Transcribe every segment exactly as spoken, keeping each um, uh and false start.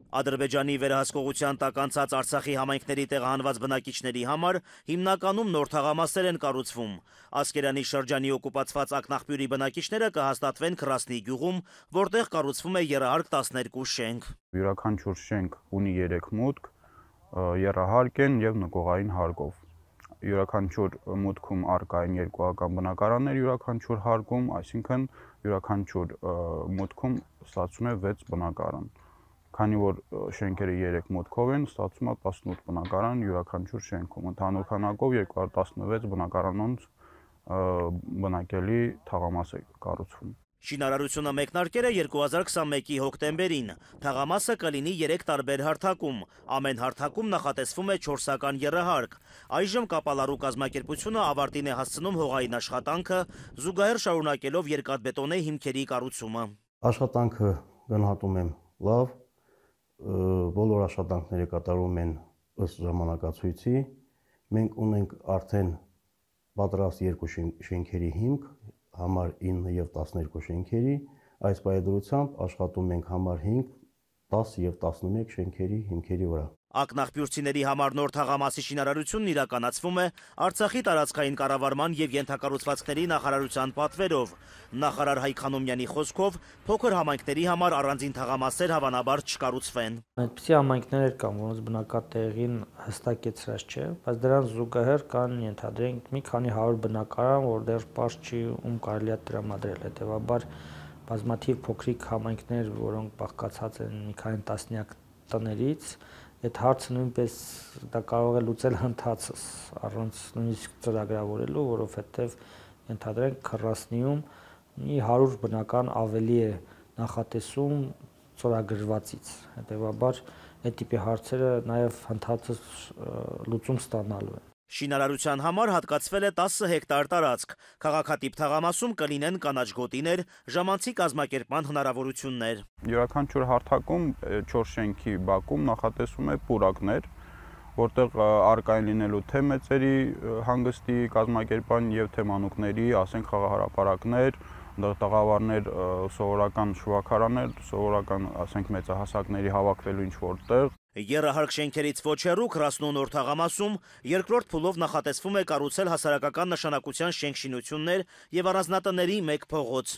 Ադրբեջանի վերահսկողության տակ անցած Արցախի համայնքների տեղահանված բնակիչների համար հիմնականում նոր թաղամասեր են կառուցվում։ Ասկերանի շրջանի օկուպացված ակնաղբյուրի բնակիչները կհաստատվեն Քրասնի գյուղում, որտեղ կառուցվում է եռահարկ տասներկու շենք։ Յուրաքանչյուր շենք ունի երեք մուտք, եռահարկ են եւ նկողային հարկով։ Յուրաքանչյուր մուտքում առկա են երկուական բնակարաններ, յուրաքանչյուր հարկում, այսինքն յուրաքանչյուր մուտքում ստացվում է վեց բնակարան։ Քանի որ շենքերը երեք մուտքով են, ստացվում է տասնութ բնակարան յուրաքանչյուր շենքում։ Ընդհանուր քանակով երկու հարյուր տասնվեց բնակարանոնց բնակելի թաղամաս է կառուցվում։ Շինարարությունը մեկնարկել է երկու հազար քսանմեկի հոկտեմբերին։ Թաղամասը կլինի երեք տարբեր հարթակում։ Ամեն հարթակում նախատեսվում է չորսական եռահարկ։ Այժմ Կապալառու կազմակերպությունը ավարտին է հասցնում հողային աշխատանքը, զուգահեռ շարունակելով երկաթբետոնե հիմքերի կառուցումը։ Աշխատանքը գնահատում եմ լավ, բոլոր աշխատանքները կատարում են ըստ ժամանակացույցի։ Մենք ունենք արդեն պատրաստ երկու շենքերի հիմք, համար ինը եւ տասներկու շենքերի, այս պայմանությամբ աշխատում ենք համար հինգ, տասը եւ տասնմեկ շենքերի հիմքերի վրա։ Ակնաղբյուրցիների համար նոր թաղամասի շինարարությունն իրականացվում է Արցախի տարածքային կառավարման եւ ենթակառուցվածքների նախարարության պատվերով։ Նախարար Հայկ Խանոմյանի խոսքով փոքր համայնքների համար առանձին թաղամասեր հավանաբար չկառուցվեն։ Այդպիսի համայնքներ կան, որոնց բնակատեղին հստակեցրած չէ, բայց դրան զուգահեռ կան, ենթադրենք, մի քանի հարյուր բնակարան, որ դեռ պարզ չի ում կարելի է տրամադրել։ Հետևաբար բազմաթիվ փոքրիկ համայնքներ, որոնք բաղկացած են մի քանի տասնյակ տներից, այդ հարցը նույնպես դա կարող է լուծել հնդածս, առանց նույնիսկ ծրագրավորելու, որովհետև ենթադրենք Քրասնիում մի հարյուր բնական ավելի է նախատեսում ծրագրվածից։ Հետևաբար այդ տիպի հարցերը նաև հնդածս լուծում ստանալու են։ Շինարարության համար հատկացվել է տասը հեկտար տարածք։ Քաղաքատիպ թաղամասում կլինեն կանաչ գոտիներ, ժամանցի կազմակերպման հնարավորություններ։ Յուրաքանչյուր հարթակում չորս շենքի բակում նախատեսվում է պուրակներ, որտեղ առկա են լինելու թե մեծերի հանգստի կազմակերպման եւ թե մանուկների, ասենք խաղահարապարակներ, տաղավարներ, սովորական շվաքարաներ, սովորական, ասենք մեծահասակների հավաքվելու ինչ որտեղ։ Եռահարկ շենքերից ոչ հեռու Քրասնու նոր թաղամասում երկրորդ փուլով նախատեսվում է կառուցել հասարակական նշանակության շենք-շինություններ եւ առանձնատների մեկ փողոց։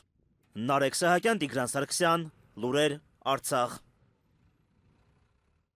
Նարեկ Սահակյան, Տիգրան Սարգսյան, Լուրեր, Արցախ։